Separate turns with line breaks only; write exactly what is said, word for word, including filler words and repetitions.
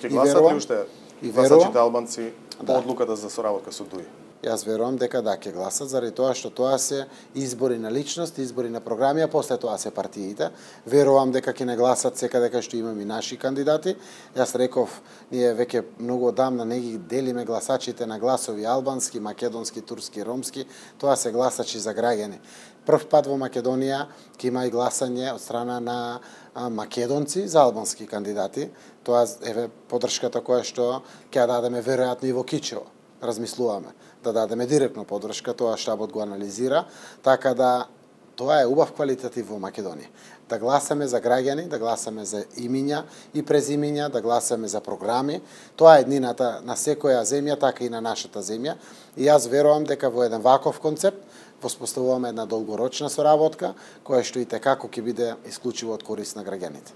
Ќе гласат ли уште гласачите албанци по одлуката за соработка со ДУИ?
Јас верувам дека да ќе гласат, заради тоа што тоа се избори на личност, избори на програми, а после тоа се партиите. Верувам дека ќе не гласат секаде кај што имаме и наши кандидати. Јас реков, ние веќе многу одамна не ги делиме гласачите на гласови албански, македонски, турски, ромски, тоа се гласачи за граѓани. Прв пат во Македонија ќе има и гласање од страна на македонци за албански кандидати. Тоа е поддршката која што ќе дадеме веројатно и во Кичево. Размислуваме да дадеме директно поддршка, тоа штабот го анализира, така да тоа е убав квалитетив во Македонија. Да гласаме за граѓани, да гласаме за имиња и презимиња, да гласаме за програми. Тоа е еднината на секоја земја, така и на нашата земја. И јас верувам дека во еден ваков концепт воспоставуваме една долгорочна соработка, која што и те како ќе биде исклучиво од корист на граѓаните.